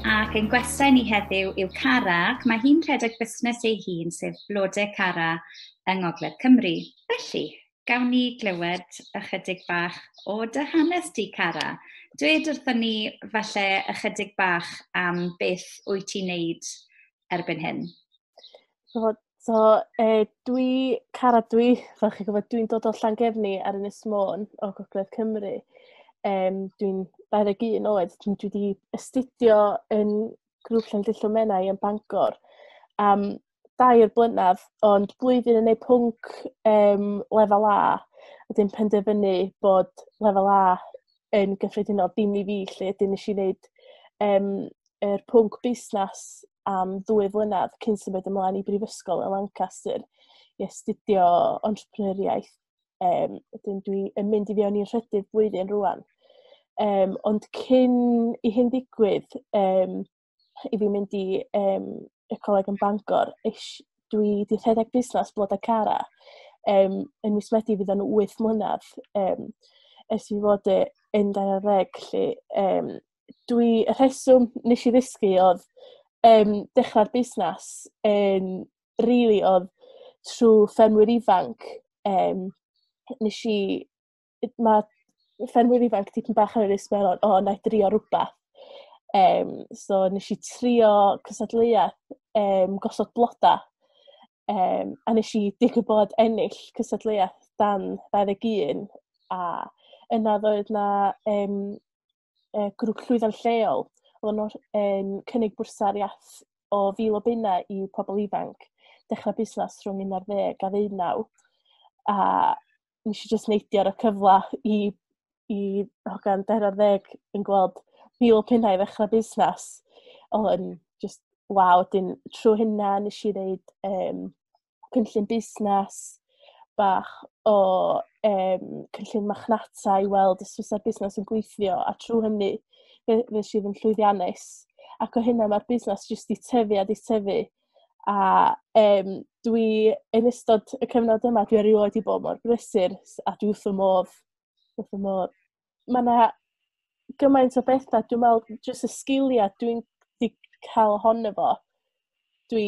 Ac ein gwestai ni heddiw yw Cara, ac mae hi'n rhedeg busnes ei hun, sef Blodau Cara yng Ngogledd Cymru. Felly, gawn ni glywed ychydig bach o dy hanes di, Cara. Dwed wrthon ni falle ychydig bach am beth wyt ti'n neud erbyn hyn. So, dwi, Cara dwi, fel chi'n gwybod, dwi'n dod o Llangefni ar Ynys Môn o Gogledd Cymru. Dwi'n 21 oed, dwi wedi astudio yn grŵp Llandrillo Menai yn Bangor am 3 blynedd, ond blwyddyn yn ei pwnc lefel A, wedyn penderfynu bod lefel A yn gyffredinol dim i fi, lle wedyn nes i wneud yr pwnc busnes am 2 flynedd cyn symud ymlaen i brifysgol yn Lancaster i astudio entrepreneuriaeth. Wedyn dwi yn mynd i fewn i'r rhydydd blwyddyn rwan. Ond cyn i hyn ddigwydd, i fi mynd i y coleg yn Bangor, dwi wedi rhedeg busnes Blodau Cara. Yn mis Medi fydd o'n 8 mlynedd ers i fi fod yn 20, lle y rheswm nes i ddysgu oedd dechrau'r busnes yn really oedd trwy ffermwyr ifanc. Nes i, mae ffermwyr ifanc tipyn bach ar yr ysmeron, "O, na i drio rhywbeth." So nes i trio cystadleuaeth gosod bloda. A nes i digwydd bod ennill cystadleuaeth dan 21 a yna ddoedd na grŵp llwyddiant lleol. Oedden nhw yn cynnig bwrsariaeth o £1,000 i pobl ifanc dechrau busnes rhwng 11 a 19. A nes i just neidio ar y cyfle i hogan 20 yn gweld £1,000 i ddechrau busnes. Oedd yn just waw. Wedyn trwy hynna nes i wneud cynllun busnes bach o cynllun marchnata i weld os fysa'r busnes yn gweithio, a trwy hynny fe nes i fod yn llwyddiannus. Ac o hynna mae'r busnes jyst 'di tyfu a 'di tyfu. A dwi yn ystod y cyfnod yma, dwi erioed 'di bod mor brysur a dwi wrth fy modd, wrth fy modd. Mae 'na gymaint o bethau, dwi'n meddwl jyst y sgiliau dwi'n 'di cael ohono fo, dwi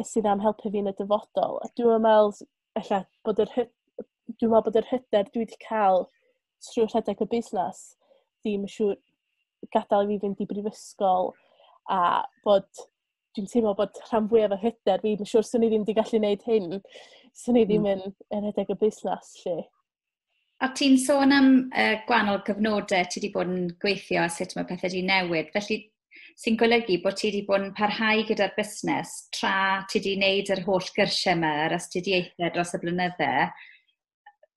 sydd am helpu fi yn y dyfodol. A dwi'n meddwl ella bod yr dwi'n meddwl bod yr hyder dwi wedi cael trwy rhedeg y busnes ddim yn siŵr gadael i fi fynd i brifysgol a bod dwi'n teimlo bod rhan fwyaf o hyder fi, mae'n siŵr swn i ddim wedi gallu gwneud hyn, swn i ddim yn rhedeg y busnes lle. A ti'n sôn am gwahanol gyfnodau ti wedi bod yn gweithio a sut mae pethau wedi newid. Felly, sy'n golygu bod ti wedi bod yn parhau gyda'r busnes tra ti wedi wneud yr holl gyrsiau yma, yr astudiaethau dros y blynydde.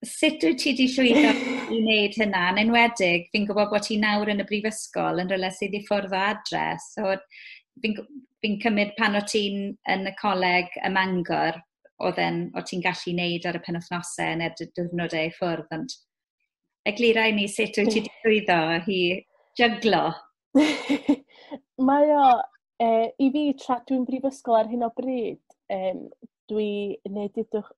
Sut wyt ti wedi llwyddo i wneud hynna? Yn enwedig, fi'n gwybod bod ti nawr yn y brifysgol yn rhywle sydd i ffwrdd o adre. So, fi'n cymryd pan o ti'n yn y coleg ym Mangor, oedd ti'n gallu wneud ar y penwythnosau neu'r diwrnodau i ffwrdd, ond eglura i ni sut wyt ti wedi llwyddo i jyglo. Mae o, i fi, tra dwi'n brifysgol ar hyn o bryd, dwi yn neud, dudwch,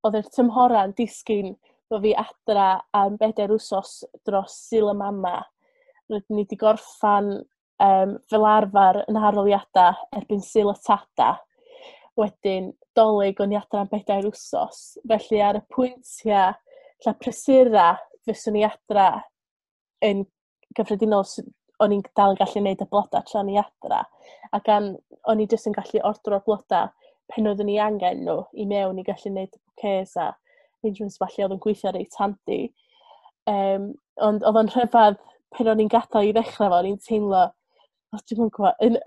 oedd yr tymhora'n disgyn bod fi adra am 4 wsos dros Sul y Mama. Rydyn ni wedi gorffan fel arfer yn arholiadau erbyn Sul y Tada. Wedyn, Dolig o'n i adra am 4 wsos. Felly ar y pwyntiau lla prysura fyswn i adra yn gyffredinol, o'n i'n dal yn gallu gwneud y blodau tra o'n i adra. A gan o'n i jyst yn gallu ordro'r blodau pen oeddwn i angen nhw i mewn i gallu gwneud y bouquets a arrangements falle oedd yn gweithio reit handi. Ond oedd o'n rhyfedd pan o'n i'n gadael i ddechrau fo, o'n i'n teimlo, o, dwi'n yn gwybod,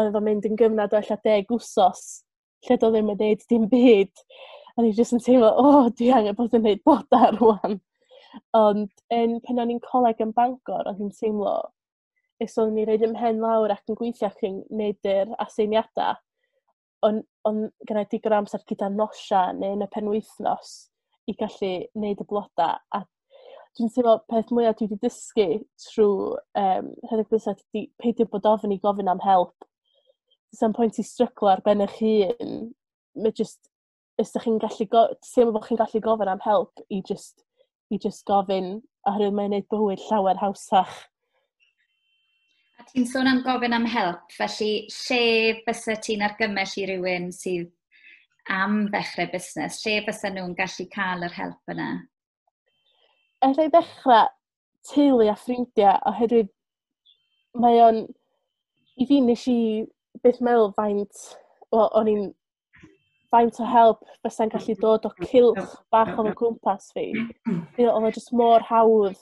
oedd o'n mynd yn gyfnod o ella 10 wsos lle doedd ddim yn gwneud dim byd. A o'n i jyst yn teimlo, "O, oh, dwi angen bod yn gwneud blodau rwan." Ond pan o'n i'n coleg yn Bangor, o'n i'n teimlo, os oeddwn i'n rhoid 'y mhen lawr ac yn gweithio ac yn gwneud yr aseiniadau, on gyda digon o amser gyda nosia neu yn y penwythnos i gallu gwneud y blodau. A dwi'n teimlo peth mwyaf dwi wedi dysgu trwy rhedeg busnes ydy peidio bod ofn i gofyn am help. Does 'na'm pwynt i stryglo ar ben eich hun. Mae just, os ydych chi'n gallu, teimlo bod chi'n gallu gofyn am help i just gofyn, oherwydd mae'n gwneud bywyd llawer hawsach. A ti'n sôn am gofyn am help, felly lle fysa ti'n argymell i rywun sydd am ddechrau busnes, lle fysa nhw'n gallu cael yr help yna? Alla i ddechrau teulu a ffrindiau, oherwydd mae o'n... I fi nes i byth meddwl faint, wel, o'n i'n faint o help fysa'n gallu dod o cylch bach o'n cwmpas fi. Oedd o jyst mor hawdd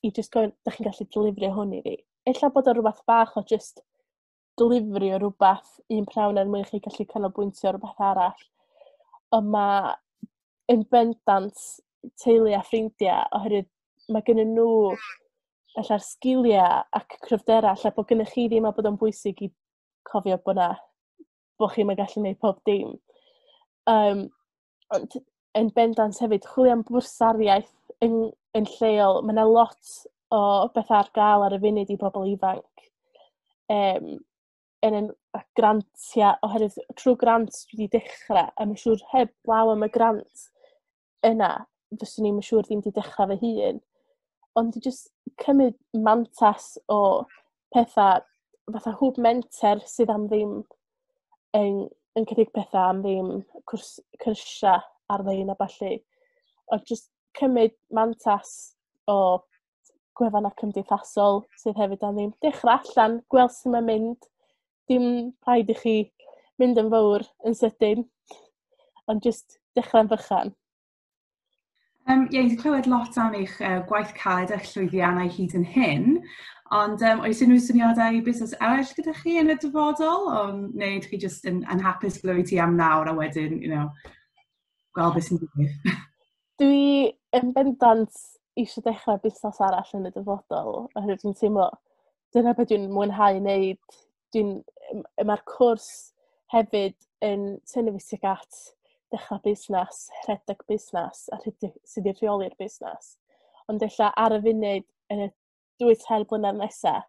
i jyst gofyn, "Da chi'n gallu delifrio hwn i fi?" Ella bod o rhywbeth bach o jyst delifrio rhywbeth un prynhawn er mwyn i chi gallu canolbwyntio ar rhywbeth arall. Ond mae yn bendant teulu a ffrindiau, oherwydd mae gennyn nhw ella'r sgiliau ac cryfderau ella bod gennych chi ddim, a bod o'n bwysig i cofio bod na bod chi'm yn gallu gwneud pob dim. Ond yn bendant hefyd, chwilio am bwrsariaeth yn lleol. Mae yna lot o bethau ar gael ar y funud i bobl ifanc. Yn grantiau, oherwydd trwy grant dwi wedi dechrau, a mae'n siŵr heb law am y grant yna, fyswn i'n siŵr ddim wedi dechrau fy hun. Ond i jyst cymryd mantas o pethau fatha Hwb Menter sydd am ddim yn cynnig pethau am ddim, cyrsiau ar-lein a ballu. Ond jyst cymryd mantas o gwefannau cymdeithasol sydd hefyd am ddim. Dechrau allan, gweld sut mae'n mynd. Dim rhaid i chi mynd yn fawr yn sydyn, ond jyst dechrau'n fychan. Ie, yeah, clywed lot am eich gwaith caled a'ch llwyddiannau hyd yn hyn, ond oes unrhyw syniadau busnes eraill gyda chi yn y dyfodol, o, neu ydych chi jyst yn hapus ble wyt ti am nawr a wedyn, gweld beth sy'n digwydd? Dwi yn bendant eisiau dechrau busnes arall yn y dyfodol, oherwydd dwi'n teimlo dyna beth dwi'n mwynhau wneud. Mae'r cwrs hefyd yn tynnu fi tuag at dechrau busnes, rhedeg busnes a rhedeg sydd i rheoli'r busnes. Ond ella ar y funud, yn y 2-3 blynedd nesaf,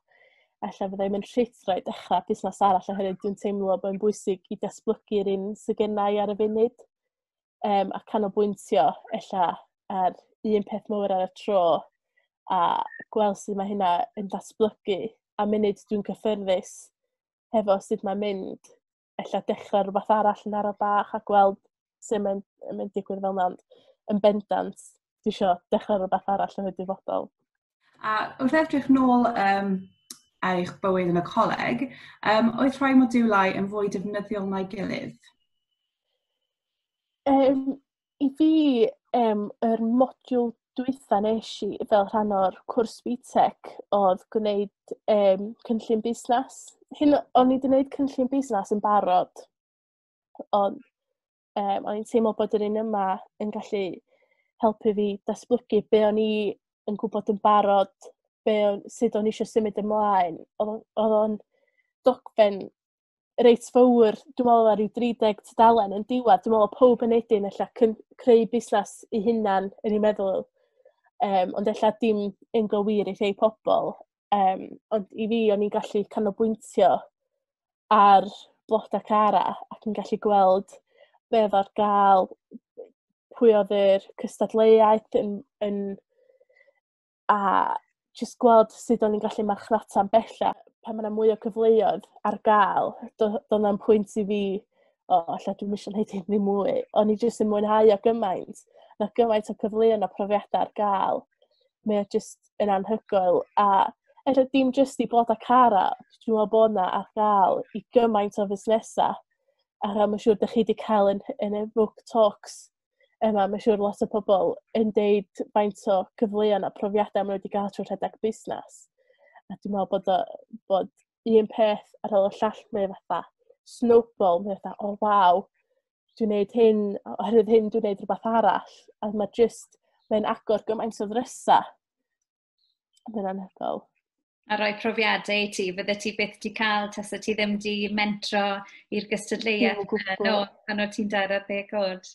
ella fyddai'n mynd rhuthro i dechrau busnes arall, oherwydd dwi'n teimlo bod yn bwysig i datblygu'r un sydd gennai ar y funud a canolbwyntio ella ar un peth mawr ar y tro a gweld sut mae hynna yn datblygu, a munud dwi'n cyffyrddus hefo sut mae'n mynd, ella dechrau rhywbeth arall yn araf bach a gweld sut mae'n mynd digwydd fel yna. Ond yn bendant, dwi isio dechrau rhywbeth arall yn y dyfodol. A wrth edrych nôl ar eich bywyd yn y coleg, oedd rhai modiwlau yn fwy defnyddiol na'i gilydd? I fi, yr modiwl dwytha nes i fel rhan o'r cwrs BTEC oedd gwneud cynllun busnes. Hyn, o'n i wedi gwneud cynllun busnes yn barod, ond o'n i'n teimlo bod yr un yma yn gallu helpu fi datblygu be o'n i yn gwybod yn barod, sut o'n i eisiau symud ymlaen. Oedd o'n dogfen reit fawr, dwi'n meddwl ar ryw 30 tudalen yn diwedd. Dwi'n meddwl pob yn edyn ella creu busnes i hunan yn ei meddwl, ond ella dim yn gywir i rhai pobl. Ond i fi, o'n i'n gallu canolbwyntio ar Bloda Cara ac yn gallu gweld be oedd ar gael, pwy oedd yr cystadleuaeth a jyst gweld sut o'n i'n gallu marchnata'n bellach. Pan mae yna mwy o cyfleoedd ar gael, doedd na'm pwynt i fi, "O, ella dwi'm eisiau gwneud hyn ddim mwy." O'n i jyst yn mwynhau o gymaint. Na gymaint o cyfleoedd a profiadau ar gael. Mae o jyst yn anhygoel. A ella dim jyst i Bloda Cara, dwi'n meddwl bod yna ar gael i gymaint o fusnesau. A mae'n siŵr ydych chi wedi cael yn y book talks yma, mae'n siŵr lot o pobl yn deud faint o cyfleoedd a profiadau maen nhw wedi gael trwy rhedeg busnes. A dwi'n meddwl bod un peth ar ôl y llall, mae fatha snowball, mae fatha, "O oh, waw, dwi'n neud hyn, oherwydd hyn dwi'n neud rhywbeth arall." A mae just, mae'n agor gymaint o ddrysau. Mae'n anhygoel. A rhoi profiadau i ti, fydde ti byth di cael tasa ti ddim di mentro i'r gystadleuaeth no, pan o ti'n 20 oed.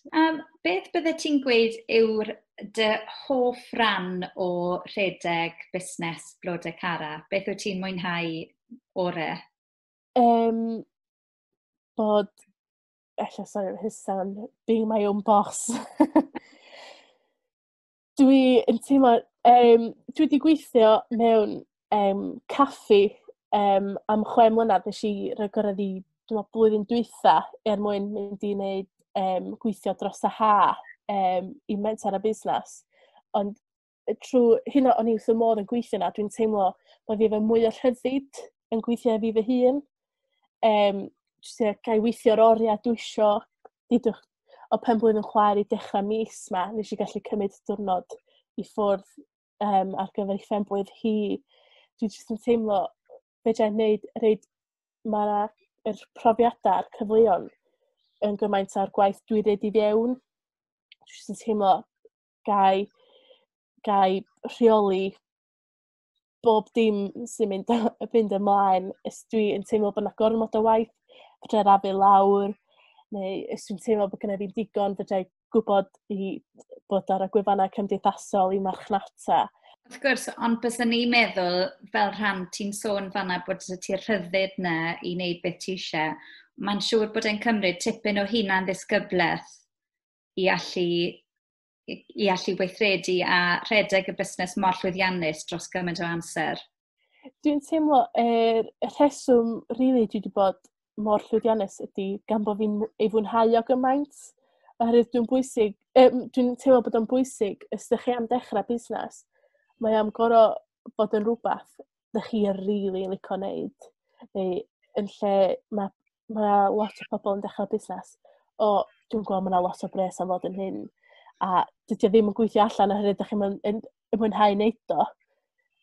Beth bydde ti'n gweud yw'r dy hoff ran o rhedeg busnes Blodau Cara? Beth wyt ti'n mwynhau ore? Bod, ella, sorry, his sound, being my own boss. Dwi yn teimlo, dwi wedi gweithio mewn caffi. Am 6 mlynedd nes i rhoi gorau i, dwi'n meddwl, blwyddyn dwytha er mwyn mynd i wneud gweithio dros y ha i menter a busnes. Ond trwy hynna o'n i wrth y modd yn gweithio yna, dwi'n teimlo bod fi efo mwy o rhyddid yn gweithio fi fy hun. Jyst ie, ga i weithio'r oriau dwi isio, dudwch, o pen blwydd yn chwaer i dechrau mis ma, nes i gallu cymryd diwrnod i ffwrdd ar gyfer ei phen-blwydd hi. Dwi jyst yn teimlo fedra i wneud reid mae'r yr profiadau a'r cyfleon yn gymaint ar gwaith dwi roid i fewn. Dwi jyst yn teimlo gai rheoli bob dim sy'n mynd ymlaen. Os dwi yn teimlo bod 'na gormod o waith, fedra i rafu lawr, neu os dwi'n teimlo bod gynna fi digon, fedra i gwybod i bod ar y gwefannau cymdeithasol i marchnata. Wrth gwrs, ond byswn ni'n meddwl, fel rhan, ti'n sôn fanna bod ti'r rhyddid na i wneud beth ti eisiau. Mae'n siŵr bod e'n cymryd tipyn o hunan ddisgyblaeth i allu weithredu a rhedeg y busnes mor llwyddiannus dros gymaint o amser. Dwi'n teimlo y rheswm rili dwi wedi bod mor llwyddiannus ydy gan bod fi'n ei fwynhau o gymaint. Oherwydd dwi'n teimlo bod o'n bwysig, os ydych chi am dechrau busnes, mae am gorau bod yn rhywbeth ydych chi rili licio wneud. Neu yn lle mae lot o pobl yn dechrau busnes, "O, dwi'n gweld mae yna lot o bres am fod yn hyn." A dydy o ddim yn gweithio allan oherwydd ydych chi'n yn mwynhau wneud o.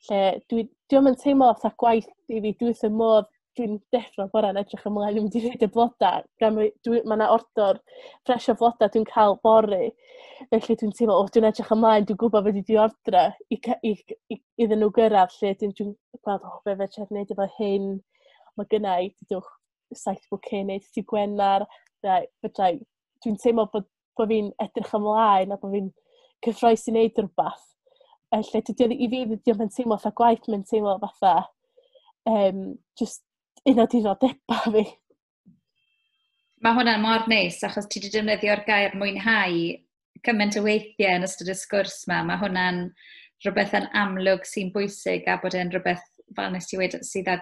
Lle dwi'm yn teimlo fatha gwaith i fi, dwi wrth y modd, dwi'n deffro bore'n edrych ymlaen i mynd i roid y blodau. Gan mae yna ordor ffres o flodau dwi'n cael fory. Felly dwi'n teimlo, "O, dwi'n edrych ymlaen, dwi'n gwybod beth dwi wedi ordro i iddyn nhw gyrraedd," lle dwi'n gweld, "O, be fedra i wneud efo hyn?" Mae gynna i, dudwch, 7 bouquet wneud dydd Gwener. Fedra i, dwi'n teimlo bod fi'n edrych ymlaen a bod fi'n cyffrous i wneud rhywbeth. Lle dydy o, i fi, dydy o'm yn teimlo fatha gwaith, mae'n teimlo fatha just un o diddordebau fi. Mae hwnna'n mor neis, achos ti wedi defnyddio'r gair "mwynhau" cymaint o weithiau yn ystod y sgwrs yma. Mae hwnna'n rhywbeth yn amlwg sy'n bwysig a bod e'n rhywbeth, fel nes ti wedi, sydd â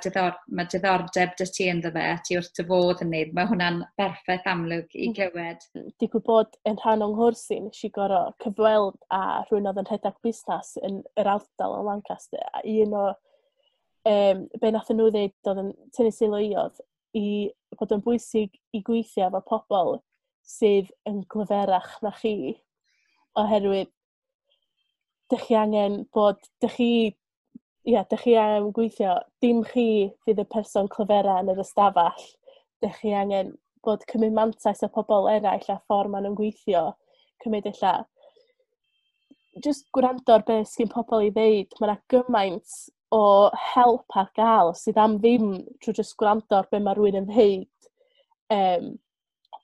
mae diddordeb dy ti ynddo fe a ti wrth dy fodd yn neud. Mae hwnna'n berffaith amlwg i glywed. Digwydd bod yn rhan o'n nghwrs i, nes i gorau cyfweld â rhywun oedd yn rhedeg busnes yn yr ardal yn Lancaster. A un o be nath nhw ddeud oedd yn tynnu sylw i oedd i bod yn bwysig i gweithio efo pobl sydd yn glyferach na chi. Oherwydd dych chi angen bod, dych chi, ia, dych chi angen gweithio, dim chi fydd y person clyfera yn yr ystafell. Dych chi angen bod cymryd mantais o pobl eraill a ffordd maen nhw'n gweithio. Cymryd ella, just gwrando ar beth sgyn pobl i ddeud. Mae yna gymaint o help ar gael sydd am ddim trwy just gwrando ar be mae rhywun yn ddeud.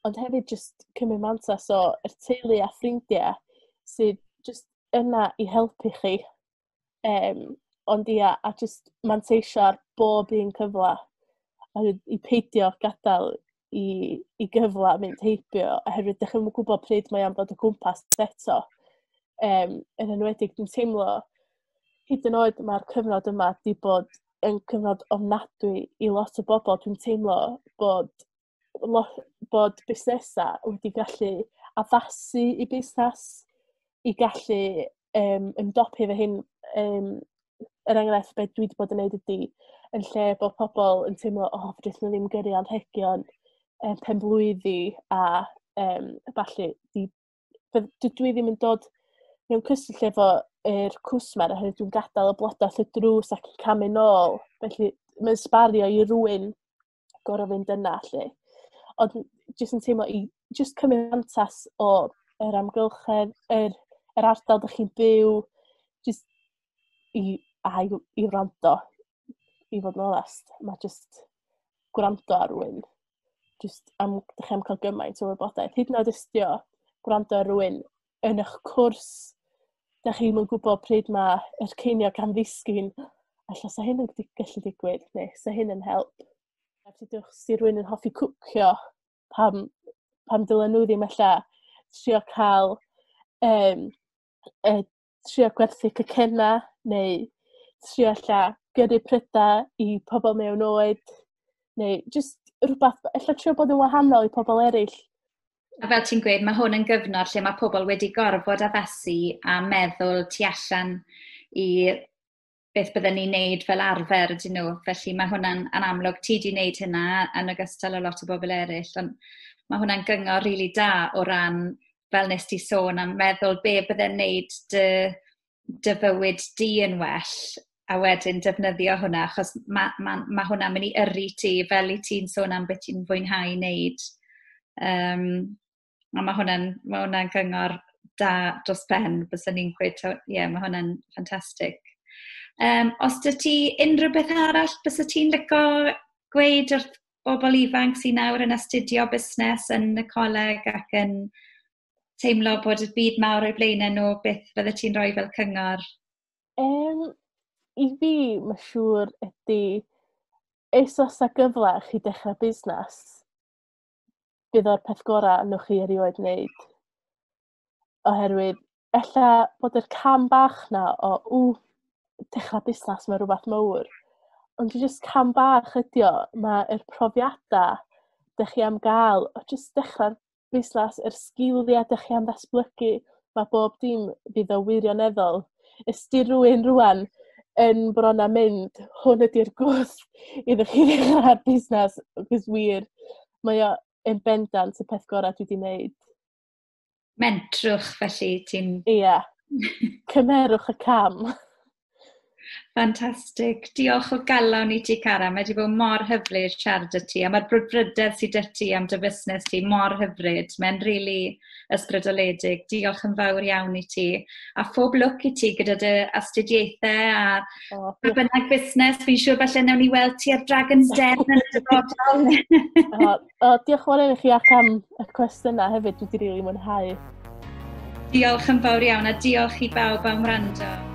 Ond hefyd just cymryd mantais o yr teulu a ffrindiau sydd just yna i helpu chi. Ond ia, a just manteisio ar bob un cyfle. A i peidio gadael i gyfle mynd heibio, oherwydd dych chi'm yn gwybod pryd mae am fod o gwmpas eto. Yn enwedig, dwi'n teimlo, hyd yn oed mae'r cyfnod yma di bod yn cyfnod ofnadwy i lot o bobl. Dwi'n teimlo bod busnesau wedi gallu addasu i busnes i gallu ymdopi efo hyn. Er enghraifft, beth dwi wedi bod yn neud ydy, yn lle bod pobl yn teimlo, "O, oh, fedrith nhw ddim gyrru anrhegion penblwyddi a falle," dwi ddim yn dod mewn cyswllt efo yr cwsmer oherwydd dwi'n gadael y blodau wrth y drws ac yn camu nôl. Felly mae'n sbario i rywun gorfod fynd yna, lle. Ond jyst yn teimlo i jyst cymryd mantais o yr amgylchedd, yr ardal dych chi'n byw, jyst i wrando, i fod yn onest. Mae jyst gwrando ar rywun, jyst am, dych chi am cael gymaint o wybodaeth. Hyd yn oed os 'di o gwrando ar rywun yn eich cwrs, dych chi'm yn gwybod pryd mae yr ceiniog am ddisgyn, ella sa hyn yn gallu digwydd, neu sa hyn yn help. A dudwch si rhywun yn hoffi cwcio, pam dylen nhw ddim ella trio cael trio gwerthu cacenna, neu trio ella gyrru prydau i pobl mewn oed, neu just rhywbeth, ella trio bod yn wahanol i pobl eraill. A fel ti'n gweud, mae hwn yn gyfnod lle mae pobl wedi gorfod addasu a meddwl tu allan i beth bydden ni'n neud fel arfer, ydyn nhw. Felly mae hwnna'n yn amlwg, ti di wneud hynna yn ogystal â lot o bobl eraill, ond mae hwnna'n gyngor rili really da o ran, fel nes ti sôn, am meddwl be bydde'n neud dy fywyd di yn well, a wedyn defnyddio hwnna, achos ma hwnna'n mynd i yrru ti, fel i ti'n sôn am beth ti'n fwynhau wneud. A mae hwnna'n gyngor da dros ben, byswn ni'n gweud, ie, yeah, mae hwnna'n ffantastig. Os dy ti unrhyw beth arall, bysa ti'n licio gweud wrth bobl ifanc sy'n nawr yn astudio busnes yn y coleg ac yn teimlo bod y byd mawr o'i blaenau nhw, beth fydde ti'n rhoi fel cyngor? I fi, mae siŵr ydy, os oes 'na gyfle chi dechrau busnes, bydd o'r peth gorau wnewch chi erioed wneud. Oherwydd, ella bod yr cam bach na o, ww, dechrau busnes, mae rhywbeth mawr. Ond jyst cam bach ydi o, mae'r profiadau dych chi am gael o jyst dechrau'r busnes, yr sgiliau dych chi am ddatblygu, mae bob dim fydd o wirioneddol. Os di rhywun rwan yn bron â mynd, hwn ydy'r gwth iddo chi ddechrau'r busnes, cos wir, mae o yn bendant y peth gorau dwi wedi wneud. Mentrwch felly, ti'n. Ie. Cymerwch y cam. Ffantastig. Diolch o galon i ti, Cara. Mae wedi bod mor hyfryd siarad â ti. A mae'r brwdfrydedd sydd 'da ti am dy fusnes ti mor hyfryd. Mae'n rili really ysbrydoledig. Diolch yn fawr iawn i ti. A phob lwc i ti gyda dy astudiaethau a oh, bynnag busnes. Fi'n siŵr falle newn ni weld ti ar Dragon's Den yn y dyfodol. O, diolch yn fawr i chi ac am y cwestiynau hefyd. Dwi wedi rili really mwynhau. Diolch yn fawr iawn a diolch i bawb am wrando.